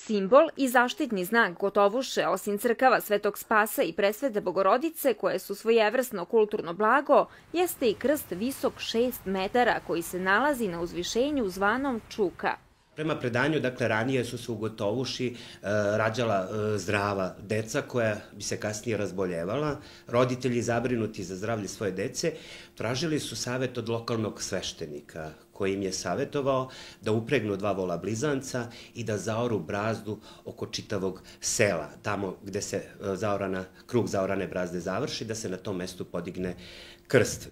Simbol i zaštitni znak Gotovuše, osim crkava Svetog Spasa i Presvete Bogorodice, koje su svojevrsno kulturno blago, jeste i krst visok 6 metara koji se nalazi na uzvišenju zvanom Čuka. Prema predanju, ranije su se u Gotovuši rađala zdrava deca koja bi se kasnije razboljevala. Roditelji, zabrinuti za zdravlje svoje dece, tražili su savet od lokalnog sveštenika koji im je savetovao da upregnu 2 vola blizanca i da zaoru brazdu oko čitavog sela. Tamo gde se krug zaorane brazde završi, da se na tom mestu podigne krst.